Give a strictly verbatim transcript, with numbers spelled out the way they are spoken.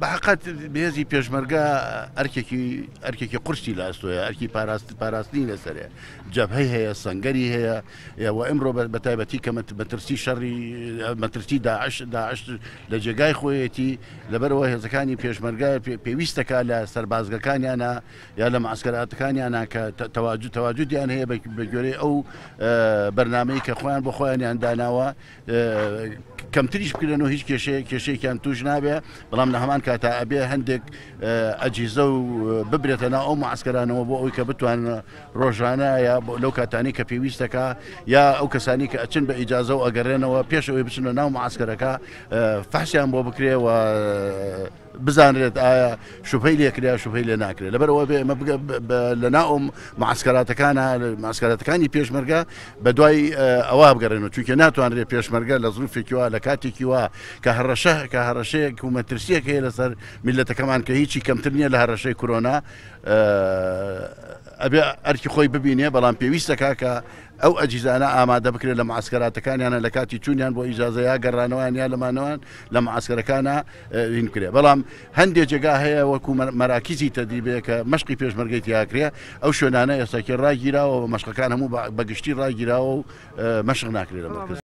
بەحقەت بێزی پێشمەرگە ئەرکێکی ئەرکێکی قورسی لە ئەستۆیە، ئەرکی پاراستنی لەسەرێ، جەبهەی هەیە، سەنگەری هەیە، و ئەمڕۆ بە تایبەتی کە مەترسی شەڕی مەترسی داعش داعش لە جێگای خۆیەتی، لەبەرەوە هێزەکانی پێشمەرگە پێویستەکە لە سەربازگەکانیانە یا لە معسکەراتەکانیانە کە تەواجد تەواجدیان هەیە بە گوێرەی ئەو بەرنامەی کە خۆیان بۆ خۆیانیان داناوە کەمتریش بکرێن و هیچ کێشەیە کێشەیەکیان توش نابێ، بەڵام لە هەمان کاتا ئەبێ هەندێک ئەجیزە و ببرێتە ناو ئەو معسکەرانەوە بۆ ئەوەی کە بتوانن ڕۆژانە یا لەو کاتانی کە پێویستەکە یا ئەو کەسانی کە ئەچن بە ئیجازە و ئەگەڕێنەوە پێش ئەوەی بچنە ناو معسکەرەکە فەحسیان بۆ بکرێ و بزانرێت ئایا شوبهەی لێکرێ شوبهەی لێ ناکرێت. لەبەرەوە بێ ئێمە لە ناو ئەو معسکەراتەکانە معسکەراتەکانی پێشمەرگە بە دوای ئەوە بگەڕێنەوە، چونکە ناتوانرێت پێشمەرگە لە ظروفێکی وا لە کاتێکی وا کە هەڕەشە کە هەڕەشەیەک و مەترسیەک هەیە لەسەر میللەتەکەمان کە هیچی کەمتر نییە لە هەڕەشەی کۆرۆنا ئەبێ ئەرکی خۆی ببینێ، بەڵام پێویستەکە کە ئەو ئەجیزانە ئامادە بکرێت لە معسکەراتەکانیانە لە کاتی چوونیان بۆ ئیجازە یا گەڕانەوەیان یا لەمانەوەیان لە معسکەرەکانە هین بکرێت. بەڵام هەندێک جێگا هەیە وەکو مەراکیزی تەدریبەیە کە مەشقی پێشمەرگەی تیاکرێ، ئەو شوێنانە ئێستاکێ ڕاگیراوە و مەشقەکان هەموو بەگشتی ڕاگیراوە و مەشق ناکرێت لە مەرکەز.